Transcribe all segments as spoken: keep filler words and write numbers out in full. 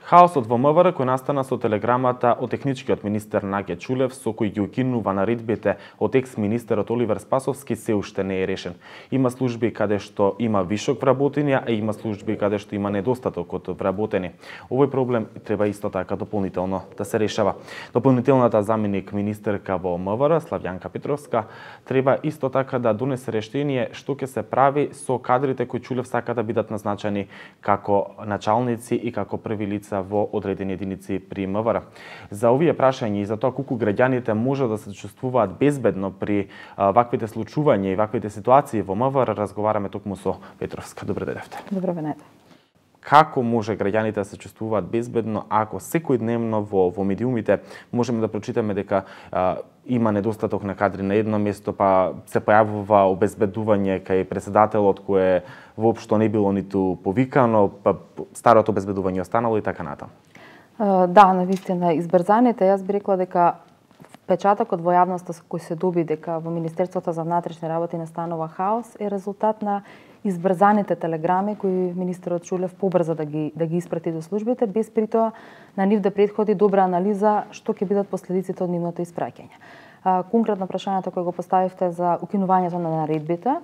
Хаосот во МВР кој настана со телеграмата од техничкиот министер Наѓа Чулев со кој ги укинува наредбите од екс-министерот Оливер Спасовски се уште не е решен. Има служби каде што има вишок вработени, а има служби каде што има недостаток од вработени. Овој проблем треба исто така дополнително да се решава. Дополнителната заменик министерка во МВР Славјанка Петровска треба исто така да донесе решение што ќе се прави со кадрите кои Чулев сака да бидат назначени како началници и како први лица во одредени единици при МВР. За овие прашања и за тоа колку граѓаните може да се чувствуваат безбедно при а, ваквите случувања и ваквите ситуации во МВР, разговараме токму со Петровска. Добре дојдовте. Добро венете. Како може граѓаните да се чувствуваат безбедно ако секојдневно во во медиумите можеме да прочитаме дека а, има недостаток на кадри на едно место, па се појавува обезбедување кај председателот кое воопшто не било ниту повикано, па старото обезбедување останало и така натаму. Да, навистина избрзаните, јас би рекла дека впечатокот во јавноста кој се доби дека во Министерството за внатрешни работи настанува хаос е резултат на избрзаните телеграми кои министерот Чулев побрза да ги да ги испрати до службите, без при тоа на нив да претходи добра анализа што ќе бидат последиците од нивното испраќање. Конкретно прашањето кое го поставивте за укинувањето на наредбите,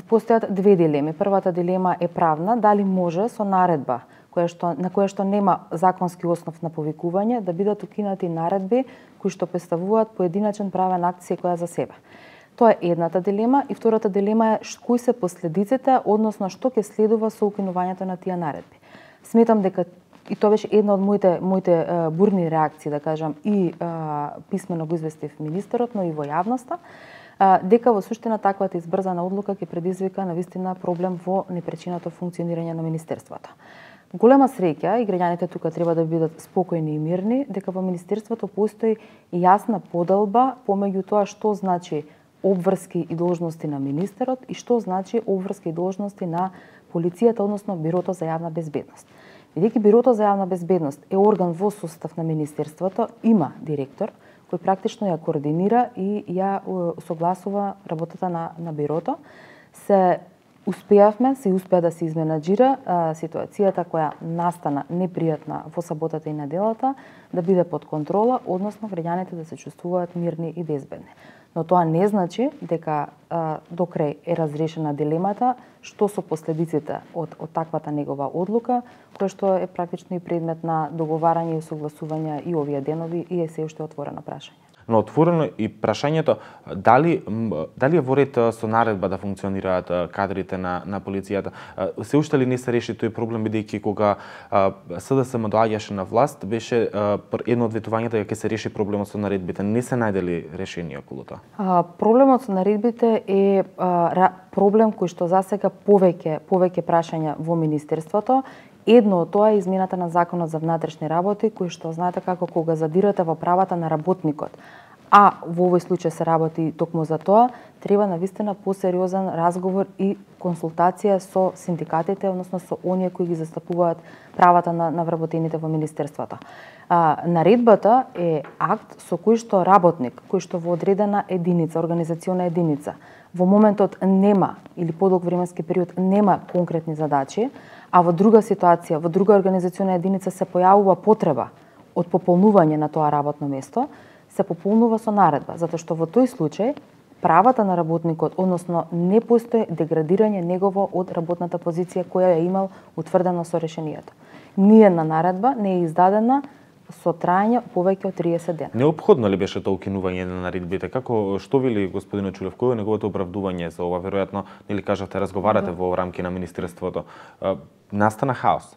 постојат две дилеми. Првата дилема е правна, дали може со наредба која што, на која што нема законски основ на повикување да бидат укинати наредби кои што представуваат поединачен правен акт секоја за себе. Тоа е едната дилема и втората дилема е кои се последиците, односно што ќе следува со укинувањето на тие наредби. Сметам дека и тоа беше една од моите моите uh, бурни реакции, да кажам, и uh, писмено го известив министерот, но и во јавноста, uh, дека во суштина таквата избрзана одлука ќе предизвика навистина проблем во непречиното функционирање на министерството. Голема среќа и граѓаните тука треба да бидат спокојни и мирни, дека во министерството постои јасна поделба помеѓу тоа што значи обврски и должности на министерот и што значи обврски и должности на полицијата, односно Бирото за јавна безбедност. Бидејќи Бирото за јавна безбедност е орган во состав на министерството, има директор кој практично ја координира и ја согласува работата на, на Бирото, се успеавме, се успеа да се изменаџира а, ситуацијата која настана непријатна во саботата и неделата, да биде под контрола, односно граѓаните да се чувствуваат мирни и безбедни. Но тоа не значи дека а, до крај е разрешена дилемата што со последиците од, од таквата негова одлука, која што е практично и предмет на договарање и согласување и овие денови и е се уште отворено прашање. Но отворено и прашањето дали дали е во ред со наредба да функционираат кадрите на на полицијата. Се уште ли не се реши тој проблем, бидејќи кога СДСМ доаѓаше на власт беше едно од ветувањата дека ќе се реши проблемот со наредбите. Не се најдели решение околу тоа. Проблемот со наредбите е а, проблем кој што засега повеќе повеќе прашања во министерството. Едно од тоа е измената на Законот за внатрешни работи, кој што знаете како кога задирате во правата на работникот, а во овој случај се работи токму за тоа, треба навистина посериозен разговор и консултација со синдикатите, односно со оние кои ги застапуваат правата на, на вработените во министерството. А, наредбата е акт со кој што работник, кој што во одредена единица, организациона единица, во моментот нема или подолг временски период нема конкретни задачи, а во друга ситуација, во друга организациона единица се појавува потреба од пополнување на тоа работно место, се пополнува со наредба, затоа што во тој случај правата на работникот, односно не постои деградирање негово од работната позиција која ја имал утврдено со решението. Ниедна наредба не е издадена со трајање повеќе од триесет дена. Неопходно ли беше тоа укинување на наредбите? Како што вели господин Чулев, кој е неговото оправдување за ова? Веројатно, нели кажате, разговарате да. во рамки на министерството. Настана хаос.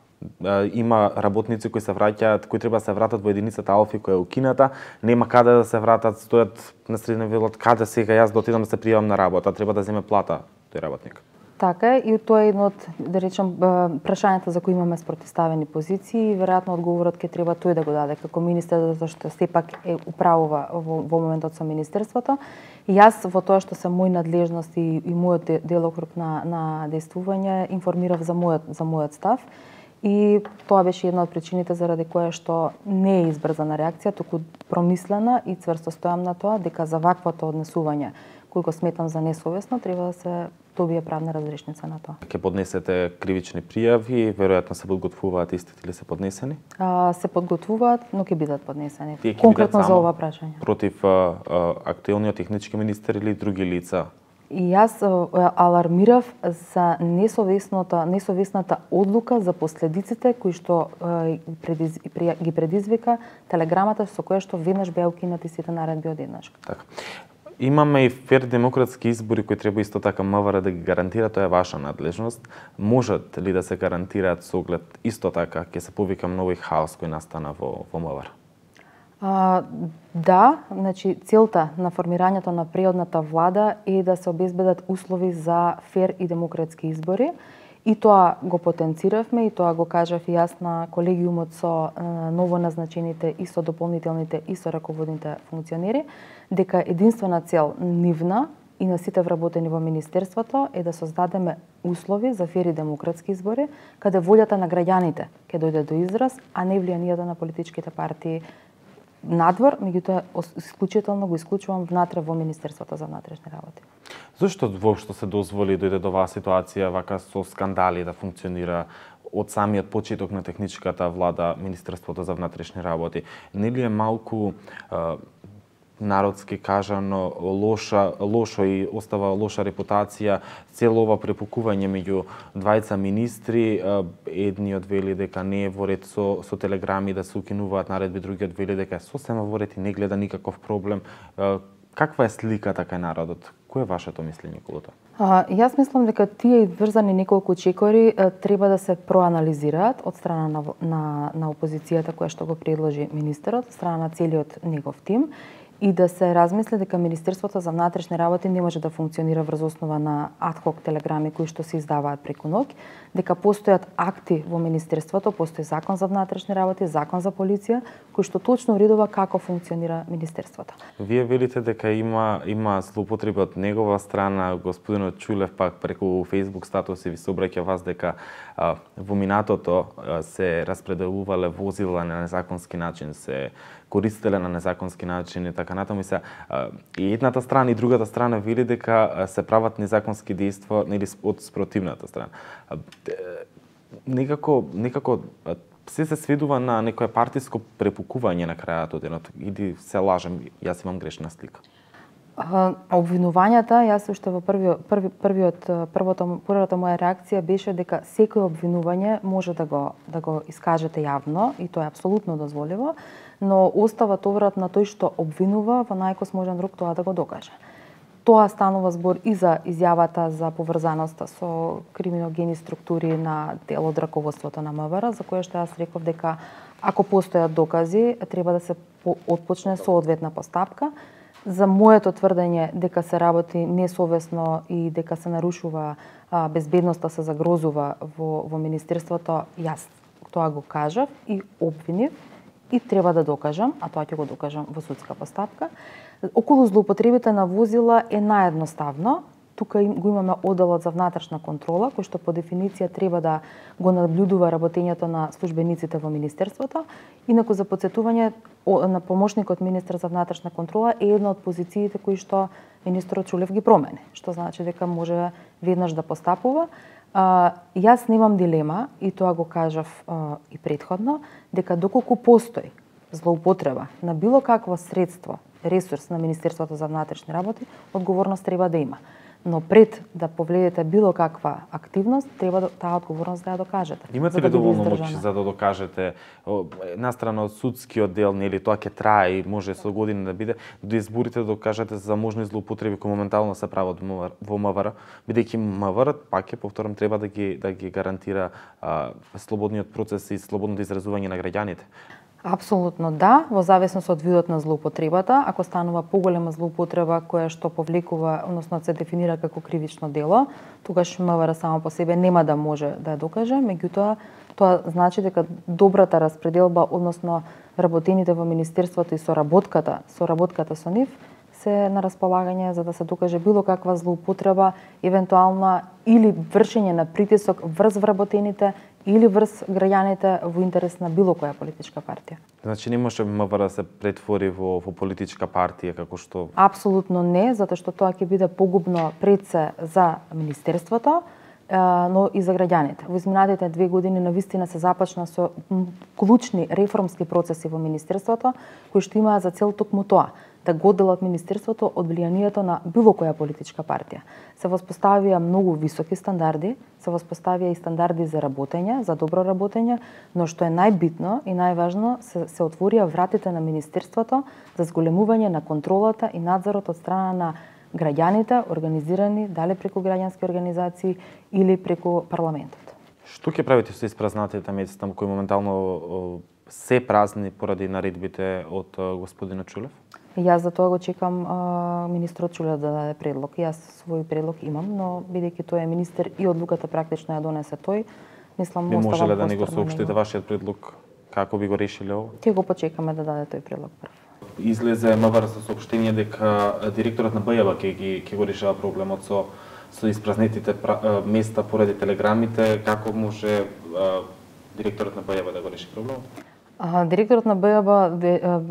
Има работници кои се враќаат, кои треба да се вратат во единицата Алфи која е укината, нема каде да се вратат, стојат на средина велот, каде сега јас да отидам да се пријавам на работа, треба да земе плата тој работник. Така е, и тоа е едно од, да речем, прашањата за кои имаме спротивставени позиции и веројатно одговорот ќе треба тој да го даде како министер, затоа што сепак е управува во, во моментот со министерството. И јас во тоа што се мој надлежност и, и мојот делокруг на, на действување информирав за мојот, за мојот став. И тоа беше една од причините заради која што не е избрзана реакција, туку промислена и цврсто стојам на тоа дека за ваквото однесување, кој го сметам за несовесно, треба да се добие правна разрешница на тоа. Ќе поднесете кривични пријави, веројатно се подготвуваат истите или се поднесени? А, се подготвуваат, но ќе бидат поднесени. Тие ќе Конкретно бидат за ова прашање. Против а, а, актуелниот технички министер или други лица? И јас а, алармирав за несовесната, несовесната одлука за последиците кои што а, предиз, ги предизвика телеграмата со која што веднаш беа укинати сите наредби одеднаш. Така. Имаме и фер демократски избори кои треба исто така МВР да ги гарантира, тоа е ваша надлежност. Можат ли да се гарантираат со оглед исто така ќе се повика нови хаос кој настана во во МВР? А, да, значи целта на формирањето на преходната влада е да се обезбедат услови за фер и демократски избори. И тоа го потенциравме и тоа го кажав и јас на колегиумот со е, новоназначените и со дополнителните и со раководните функционери, дека единствена цел нивна и на сите вработени во Министерството е да создадеме услови за фер и демократски избори, каде волјата на граѓаните ќе дојде до израз, а не влијанието на политичките партии надвор, меѓутоа исклучително го исклучувам внатре во Министерството за внатрешни работи. Зошто воопшто се дозволи дојде до оваа ситуација вака со скандали да функционира од самиот почеток на техничката влада Министерството за внатрешни работи? Нели е малку а, народски кажано лоша, лошо и остава лоша репутација цело ова препукување меѓу двајца министри, едниот вели дека не е во ред со, со телеграми да се укинуваат наредби, другиот вели дека е сосема во ред и не гледа никаков проблем. Каква е сликата кај народот? Кој е вашето мислење околу тоа? А, јас мислам дека тие врзани неколку чекори а, треба да се проанализираат од страна на, на, на опозицијата која што го предложи министерот, од страна на целиот негов тим, и да се размисли дека Министерството за внатрешни работи не може да функционира врз основа на адхок телеграми кои што се издаваат преку ноќ, дека постојат акти во Министерството, постои закон за внатрешни работи, закон за полиција, кој што точно уредува како функционира Министерството. Вие велите дека има има злоупотреби од негова страна, господинот Чулев пак преку Facebook статуси ви се обраќа вас дека а, во минатото а, се распределувале возила на незаконски начин, се користеле на незаконски начин и така натаму. И се и едната страна и другата страна вели дека се прават незаконски дејства нели од спротивната страна. Некако некако се се сведува на некое партиско препукување на крајот од денот. Иди се лажем, јас имам грешна слика. Обвинувањата, јас уште во првиот први првиот првото првата моја реакција беше дека секој обвинување може да го да го искажете јавно и тоа е апсолутно дозволиво, но остава товарот на тој што обвинува во најкосможен рук тоа да го докаже. Тоа станува збор и за изјавата за поврзаноста со криминогени структури на дел од раководството на МВР, за кое што јас реков дека ако постојат докази, треба да се отпочне соодветна постапка. За моето тврдење дека се работи несовесно и дека се нарушува а, безбедноста, се загрозува во, во Министерството, јас тоа го кажав и обвинив и треба да докажам, а тоа ќе го докажам во судска постапка. Околу злоупотребите на возила е наедноставно. Тука го имаме одделот за внатрешна контрола, кој што по дефиниција треба да го наблюдува работењето на службениците во Министерството. Инаку за подсетување, на помошникот министер за внатрешна контрола е една од позициите кои што министерот Чулев ги промени, што значи дека може веднаш да постапува. А, јас немам дилема, и тоа го кажав а, и предходно, дека доколку постои злоупотреба на било какво средство, ресурс на Министерството за внатрешни работи, одговорност треба да има. Но пред да повледете било каква активност, треба да, таа одговорност да ја докажете. Имате ли доволно моќ за да докажете настрана од судскиот дел, нели тоа ќе трае и може со години да биде, до изборите да докажете за можни злоупотреби кои моментално се прават во МВР, бидејќи МВР, пак ќе повторам, треба да ги да ги гарантира а, слободниот процес и слободното изразување на граѓаните. Апсолутно да, во зависност од видот на злоупотребата. Ако станува поголема злоупотреба која што повлекува, односно се дефинира како кривично дело, тогаш МВР само по себе нема да може да ја докаже, меѓутоа тоа значи дека добрата распределба, односно работените во Министерството и соработката, соработката со нив се на располагање за да се докаже било каква злоупотреба, евентуална или вршење на притисок врз вработените или врз граѓаните во интерес на било која политичка партија. Значи не може МВР да се претвори во, во политичка партија како што... Апсолутно не, затоа што тоа ќе биде погубно пред се за Министерството, но и за граѓаните. Во изминатите две години навистина се започна со клучни реформски процеси во Министерството, кои што имаат за цел токму тоа, да го одделат Министерството од влијанието на било која политичка партија. Се воспоставија многу високи стандарди, се воспоставија и стандарди за работење, за добро работење, но што е најбитно и најважно, се, се отворија вратите на Министерството за зголемување на контролата и надзорот од страна на граѓаните, организирани дали преку граѓански организации или преку парламентот. Што ќе правите со испразнатите места кои моментално се празни поради наредбите од господинот Чулев? Јас за тоа го чекам а, министрот Чулев да даде предлог. Јас свој предлог имам, но бидејќи тој е министер и одлуката практично ја донесе тој, мислам би можеле да не го соопштите вашиот предлог како би го решиле ово? Ќе го почекаме да даде тој предлог прв. Излезе МВР со соопштение дека директорот на БЈ ќе ги ќе го решава проблемот со со испразнетите места поради телеграмите. Како може а, директорот на БЈ да го реши проблемот? А, директорот на БЈ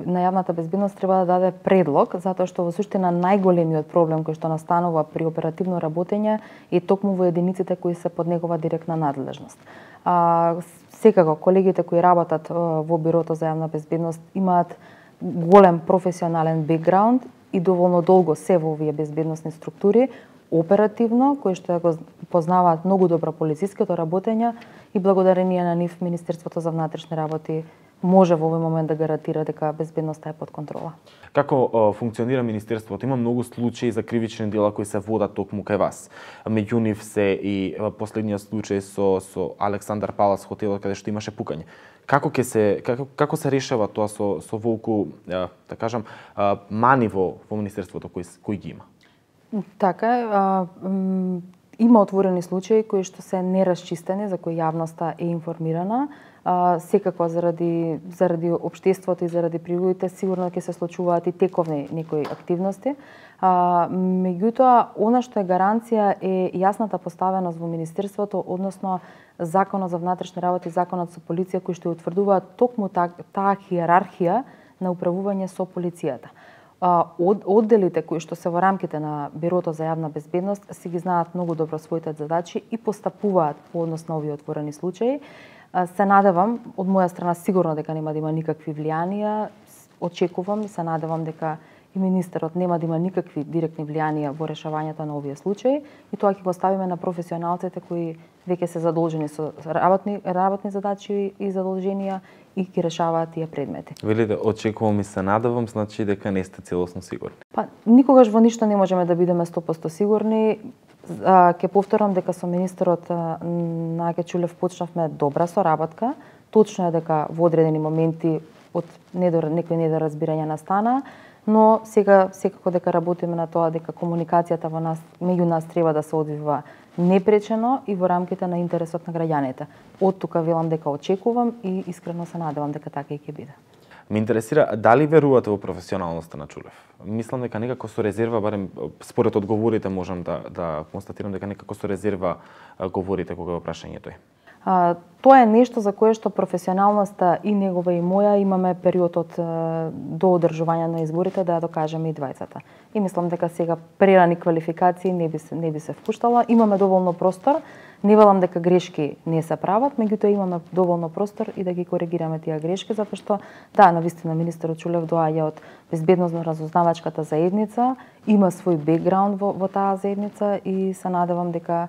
на јавната безбедност треба да даде предлог, затоа што во суштина најголемиот проблем кој што настанува при оперативно работење е токму во единиците кои се под негова директна надлежност. А, секако колегите кои работат во Бирото за јавна безбедност имаат голем професионален бекграунд и доволно долго се во овие безбедносни структури, оперативно, кои што го познаваат многу добро полициското работење и благодарение на нив Министерството за внатрешни работи може во овој момент да гарантира дека безбедноста е под контрола. Како о, функционира Министерството? Има многу случаи за кривични дела кои се водат токму кај вас. Меѓу нив се и последниот случај со со Александар Палас хотелот каде што имаше пукање. Како ќе се како како се решава тоа со со волку, да кажам, мани во во Министерството кои кои ги има? Така е, има отворени случаи кои што се нерасчистени, за кои јавноста е информирана. А, секако заради заради општеството и заради прилуѓите сигурно ќе се случуваат и тековни некои активности. А, меѓутоа, она што е гаранција е јасната поставеност во Министерството, односно Законот за внатрешни работи и Законот со полиција, кои што утврдуваат токму таа та хиерархија на управување со полицијата. Од, одделите кои што се во рамките на Бирото за јавна безбедност си ги знаат многу добро своите задачи и постапуваат по однос на овие отворени случаи. Се надевам, од моја страна сигурно дека нема да има никакви влијанија, очекувам и се надевам дека и министерот нема да има никакви директни влијанија во решавањето на овие случаи и тоа ќе го ставиме на професионалците кои веќе се задолжени со работни работни задачи и задолженија и ќе решаваат тие предмети. Велите, очекувам и се надевам, значи дека не сте целосно сигурни. Па никогаш во ништо не можеме да бидеме сто проценти сигурни. Ќе повторам дека со министерот Наке Чулев почнавме добра соработка. Точно е дека во одредени моменти од недор некои недоразбирања настана, но сега секако дека работиме на тоа дека комуникацијата во нас меѓу нас треба да се одвива непречено и во рамките на интересот на граѓаните. Од тука велам дека очекувам и искрено се надевам дека така и ќе биде. Ме интересира дали верувате во професионалноста на Чулев? Мислам дека некако со резерва, барем според одговорите можам да да констатирам дека некако со резерва говорите кога е прашање тој. А, тоа е нешто за кое што професионалноста и негова и моја имаме период од до одржување на изборите да ја докажеме и двајцата. И мислам дека сега прерани квалификации не би се не би се впуштала. Имаме доволно простор. Не велам дека грешки не се прават, меѓутоа имаме доволно простор и да ги коригираме тие грешки, затоа што да, навистина министерот Чулев доаѓа од безбедносно-разузнавачката заедница, има свој бекграунд во, во таа заедница и се надевам дека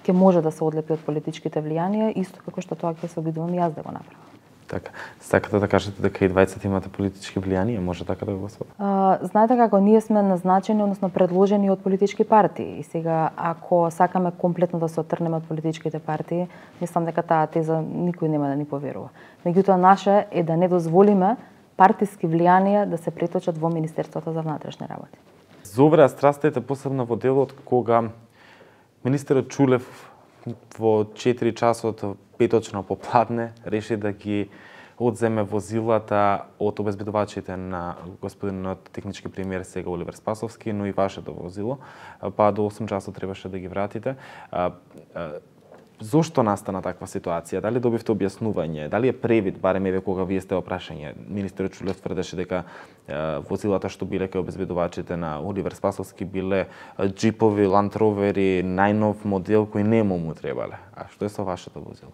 ќе може да се одлепи од политичките влијанија, исто како што тоа ќе се обидувам јас да го направам. Така, сакате да кажете дека и двајцата имате политички влијанија, може така да го сватам? Знаете како, ние сме назначени, односно предложени од политички партии. И сега, ако сакаме комплетно да се отрнеме од политичките партии, мислам дека таа теза никој нема да ни поверува. Меѓутоа, наше е да не дозволиме партиски влијанија да се преточат во Министерството за внатрешни работи. Зовреа страстите посебно во делот кога министерот Чулев во четири часот петочно попладне реши да ги одземе возилата од обезбедувачите на господинот технички премиер сега Оливер Спасовски, но и вашето возило, па до осум часот требаше да ги вратите. Зошто настана таква ситуација? Дали добивте објаснување? Дали е превид, барем еве кога вие сте опрашање? Министерот Чулев тврдеше дека е, возилата што биле кај обезбедувачите на Оливер Спасовски биле джипови, Land Roveri, најнов модел кој нему му требале. А што е со вашето возило?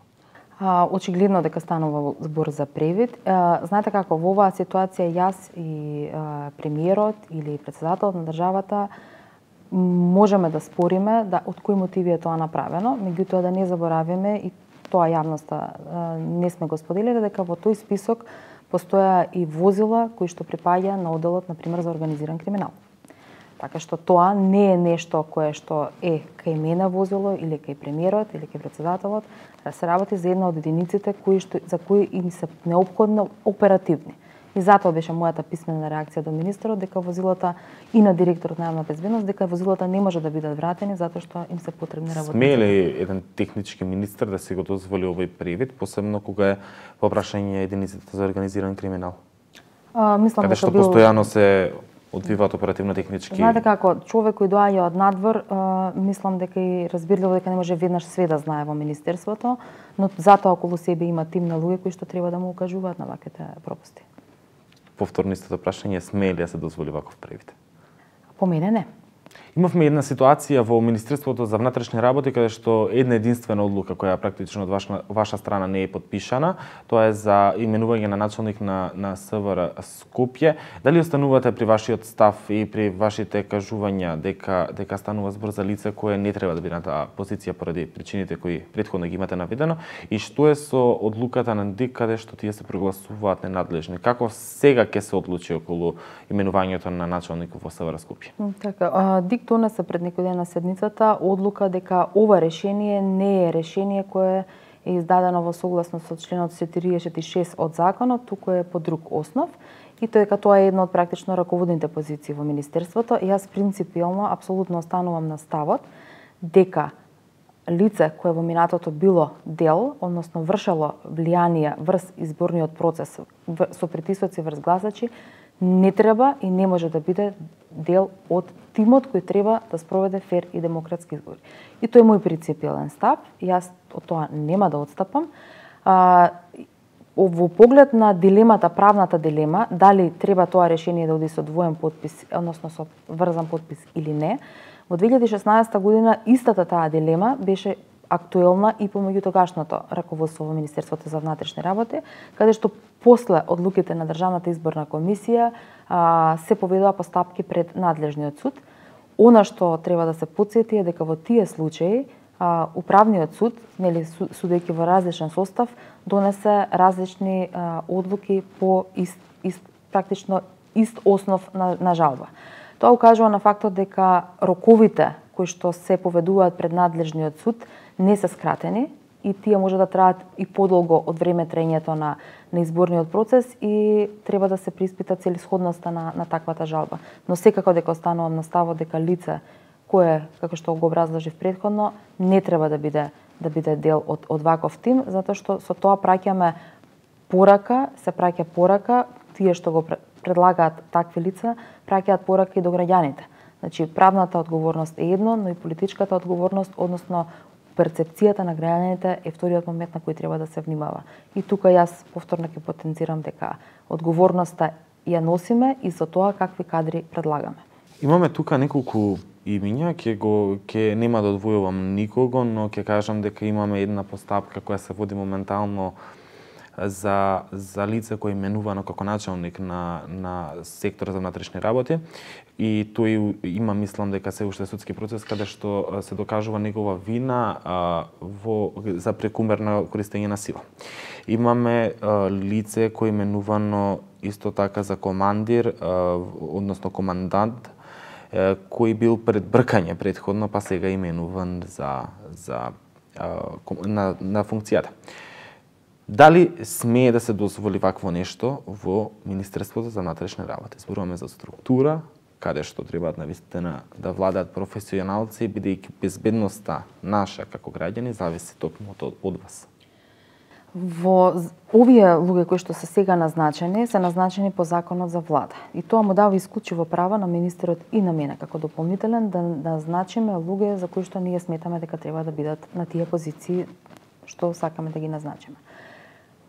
А, очигледно дека станува збор за превид. А, знаете како, во оваа ситуација јас и а, премиерот или председателот на државата можеме да спориме да од кои мотиви е тоа направено, меѓутоа да не заборавиме и тоа јавноста не сме го споделиле дека во тој список постоја и возила кои што припаѓа на одделот на пример за организиран криминал. Така што тоа не е нешто кое што е кај мене возило или кај премиерот или кај председателот, да се работи за една од единиците кои што за кои им се неопходно оперативни. И затоа беше мојата писмена реакција до министерот дека возилата и на директорот на јавна безбедност дека возилата не може да бидат вратени затоа што им се потребни работници. Смее ли еден технички министер да си го дозволи овој превид, посебно кога е во прашање единиците за организиран криминал? А, мислам Каде дека што бил... постојано се одвиваат оперативно технички. Знаете како, човек кој доаѓа од надвор, а, мислам дека и разбирливо дека не може веднаш све да знае во министерството, но затоа околу себе има тим на луѓе кои што треба да му укажуваат на ваквите пропусти. Повторно истото прашање, смее ли да се дозволи ваков превид? По мене не. Имавме една ситуација во Министерството за внатрешни работи каде што една единствена одлука која практично од ваша, ваша страна не е подпишана, тоа е за именување на началник на на СВР Скопје. Дали останувате при вашиот став и при вашите кажувања дека дека станува збор за лице кое не треба да биде на таа позиција поради причините кои претходно ги имате наведено, и што е со одлуката на ДИК каде што тие се прогласуваат ненадлежни? Како сега ќе се одлучи околу именувањето на началник во СВР Скопје? Така, ДИК донесе пред некој ден на седницата одлука дека ова решение не е решение кое е издадено во согласност со членот четиридесет и шест од законот, туку е по друг основ, и тоа дека тоа е една од практично раководните позиции во министерството. И јас принципиелно апсолутно останувам на ставот дека лице кое во минатото било дел, односно вршело влијание врз изборниот процес со притисоци врз гласачи, не треба и не може да биде дел од тимот кој треба да спроведе фер и демократски избори. И тој е мој принципиелен став, и јас од тоа нема да отстапам. А, во поглед на дилемата, правната дилема, дали треба тоа решение да оди со двоен подпис, односно со врзан подпис или не, во две илјади и шеснаесета година истата таа дилема беше актуелна и помеѓу тогашното раководство во Министерството за внатрешни работи, каде што после одлуките на Државната изборна комисија а, се поведува постапки пред надлежниот суд. Она што треба да се потсети е дека во тие случаи а, управниот суд, нели судејќи во различен состав, донесе различни а, одлуки по ист, ист практично ист основ на, на жалба. Тоа укажува на фактот дека роковите кои што се поведуваат пред надлежниот суд не се скратени и тие може да траат и подолго од време траењето на, на изборниот процес и треба да се приспита целисходноста на, на таквата жалба. Но секако дека останувам на ставот дека лице кое, како што го образложив претходно, не треба да биде да биде дел од, од ваков тим, затоа што со тоа праќаме порака, се праќа порака, тие што го предлагаат такви лица, праќаат порака и до граѓаните. Значи, правната одговорност е едно, но и политичката одговорност, односно перцепцијата на граѓаните е вториот момент на кој треба да се внимава. И тука јас повторно ќе потенцирам дека одговорноста ја носиме и за тоа какви кадри предлагаме. Имаме тука неколку имиња, ќе го ќе нема да одвојувам никого, но ќе кажам дека имаме една постапка која се води моментално за за лице кој е именувано како началник на на секторот за внатрешни работи, и тој има, мислам дека се уште судски процес каде што се докажува негова вина а, во за прекумерно користење на сила. Имаме а, лице кој е именувано исто така за командир, а, односно командант, а, кој бил пред бркање претходно, па сега именуван за за а, на на функцијата. Дали смее да се дозволи вакво нешто во Министерството за внатрешни работи? Зборуваме за структура, каде што требаат навистина да владаат професионалци, бидејќи безбедноста наша како граѓани зависи токму од, од вас. Во овие луѓе кои што се сега назначени, се назначени по законот за влада. И тоа му дава исклучиво право на министерот и на мене како дополнителен да назначиме луѓе за кои што ние сметаме дека треба да бидат на тие позиции што сакаме да ги назначиме.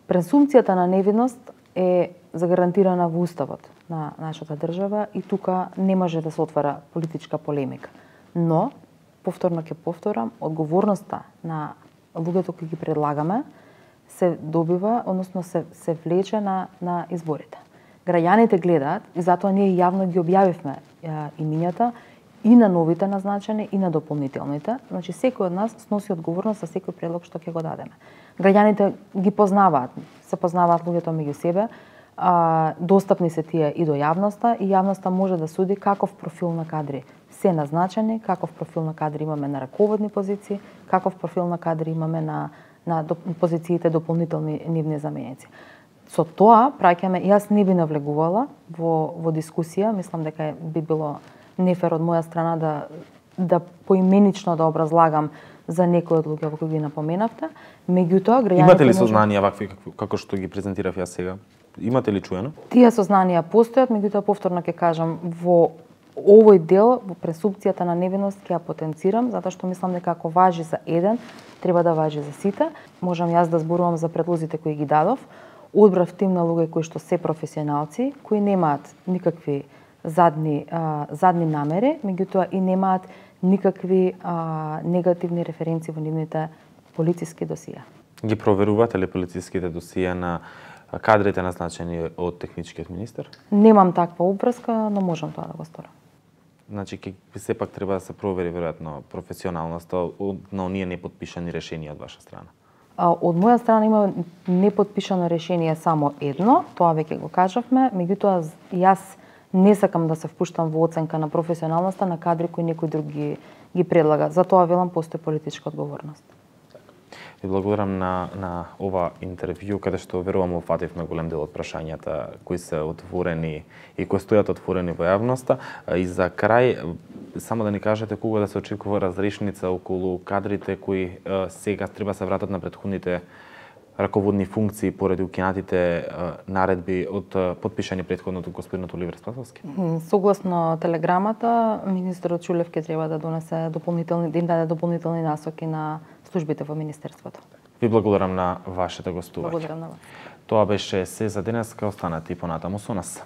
Презумпцијата на невиност е загарантирана во уставот на нашата држава и тука не може да се отвара политичка полемика. Но, повторно ќе повторам, одговорноста на луѓето кои ги предлагаме се добива, односно се, се влече на, на изборите. Граѓаните гледаат и затоа ние јавно ги објавивме е, имињата и на новите назначени и на дополнителните. Значи секој од нас сноси одговорност за секој предлог што ќе го дадеме. Граѓаните ги познаваат, се познаваат луѓето меѓу себе, а, достапни се тие и до јавноста и јавноста може да суди каков профил на кадри се назначени, каков профил на кадри имаме на раководни позиции, каков профил на кадри имаме на на позициите дополнителни нивни заменици. Со тоа, праќаме, јас не би навлегувала во, во дискусија, мислам дека би било нефер од моја страна да, да поименично да образлагам за некои од луѓе кои ги напоменавте, меѓутоа граѓаните Имате ли сознанија вакви како, како што ги презентирав јас сега? Имате ли чуено? Тие сознанија постојат, меѓутоа повторно ќе кажам, во овој дел, во пресупцијата на невиност ќе ја потенцирам, затоа што мислам дека ако важи за еден, треба да важи за сите. Можам јас да зборувам за предлозите кои ги дадов. Одбрав тим на луѓе кои што се професионалци, кои немаат никакви задни, а, задни намери, меѓутоа и немаат никакви а, негативни референции во нивните полициски досија. Ги проверувате ли полициските досија на кадрите назначени од техничкиот министер? Немам таква обврска, но можам тоа да го сторам. Значи, ке, сепак треба да се провери веројатно професионалноста на оние неподпишани решенија од ваша страна. А, од моја страна има неподпишано решение само едно, тоа веќе го кажавме, меѓутоа јас не сакам да се впуштам во оценка на професионалноста на кадри кои некој друг ги, ги предлага. Затоа велам постои политичка одговорност. Ви благодарам на, на ова интервју, каде што верувам офативме голем дел од прашањата кои се отворени и кои стојат отворени во јавноста. И за крај, само да ни кажете кога да се очекува разрешница околу кадрите кои е, сега треба се вратат на претходните раководни функции поради укинатите е, наредби од е, подпишани претходно од господинот Оливер Спасовски? Согласно телеграмата, министерот Чулев ќе треба да донесе дополнителни, да им даде дополнителни насоки на службите во министерството. Ви благодарам на вашето гостување. Благодарам на вас. Тоа беше се за денеска, останете и понатаму со нас.